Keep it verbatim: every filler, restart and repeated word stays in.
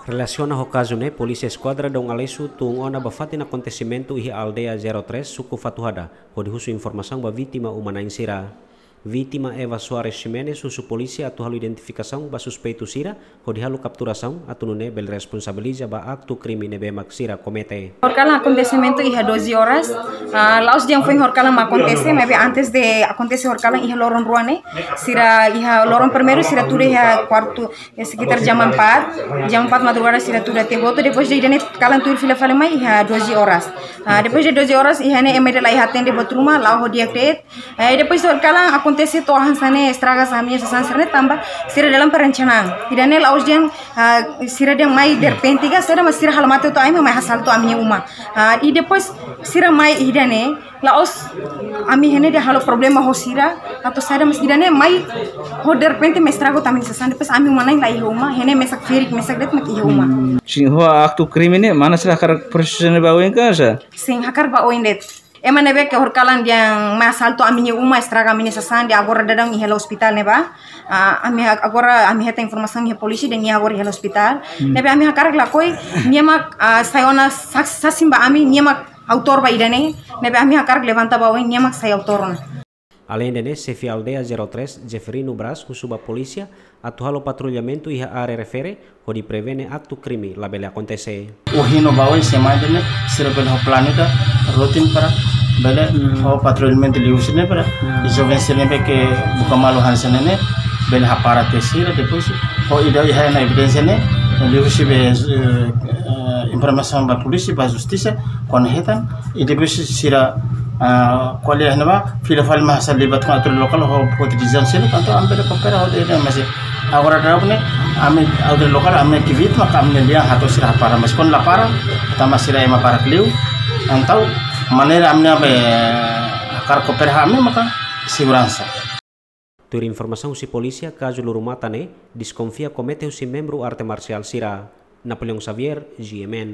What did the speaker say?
Relasiona ho kazu ne'e, Polísia Eskuadra Dom Aleixo tun ona ba fatin akontesimentu iha Aldeia zero três, Suku Fatuhada, hodi husu informasaun ba vítima uma-na'in sira. Vítima Eva Soares Ximenes husu polísia atu halo identifikasaun ba suspeitu sira, hodi halo kapturasaun, atu nune'e bele responsabiliza ba aktu krime ne'ebé mak sira komete. Horikalan akontesimentu iha doze horas, ah, la'ós dehan foin horikalan mak akontese, maibé antes de akontese horikalan iha loron rua ne'e, sira iha loron primeiru sira tuda iha kuartu, iha sekitar jam empat, jam empat madrugada sira tuda tiha hotu, depois de ida-ne'e kalan tuir fila fali mai iha doze horas. Ah, depois de doze horas, iha ne'e ema ida la iha atende buat ruma, la'o ho di'ak de'it. Eh, depois de horikalan akontese to'o hanesan ne'e estraga ami-nia sasán sira-ne'e tanba sira dalam perencanaan. Ida-ne'e la'ós dehan, ah, sira dehan mai derrepente ka saida, mas sira halo mate hotu ami, mai hasaltu ami-nia uma. Ah, i depois sira mai ida-ne'e, la'ós ami iha ne'e dehan halo problema ho sira, atu saida, mas ida-ne'e mai ho derrepente mai estraga hotu ami-nia sasán, depois ami uma-na'in la iha uma, iha ne'e mesak ferik, mesak de'it mak iha uma. Sin, ho aktu krime ne'e, mana sira hakarak prosesu ne'e ba oin ka sá? Sin, hakarak ba oin de'it. Ema ne'ebé ke horikalan dehan mai hasaltu ami-nia uma, estraga ami-nia sasán, dehan agora daudaun iha hela ospitál ne'ebá. Ah, ami ha-, agora ami hetan informasaun iha polísia dehan nia agora iha hela ospitál. Hmm. Ne'ebé ami hakarak lakohi, nia mak, ah, sai ona sa-, sasin ba ami, nia mak autór ba ida-ne'e. Ne'ebé ami hakarak levanta ba oin, nia mak sai autór ona. Aleinde ne'e, xefe aldeia zero três, Jeferino Braz, husu ba polísia atu halo patrullamentu iha área refere, hodi prevene aktu krime labele akontese. Ohin no ba oin semana ne'e, sira bele ho planu ida rutin para bele, hmm, ho patrullamentu liuhusi ne'e para, hmm, joven sira ne'ebé ke buka malu hanesan ne'e, bele hapara tiha sira, depois ho ida iha ona evidénsia ne'e, liuhusi be, eh, eh, informasaun ba polísia, ba justisa, kuandu hetan, i depois sira, ah, ko'alia iha ne'ebá, fila fali mai hasa'e libat ho autoridade lokál, ho foti desizaun seluk, entaun ami bele koopera ho ida-ne'e, mas agora daudaun ne'e, ami autoridade lokál, ami ke vítima, ka ami-nia lian hato'o sira hapara, mas kuandu la para, tanba sira ema barak liu, entaun maneira ami-nia be, hakarak koopera ami maka seguransa. Tuir informasaun husi polísia, kazu luru-matan ne'e deskonfia komete husi membru arte marsiál sira. Napoleão Xavier, G M N.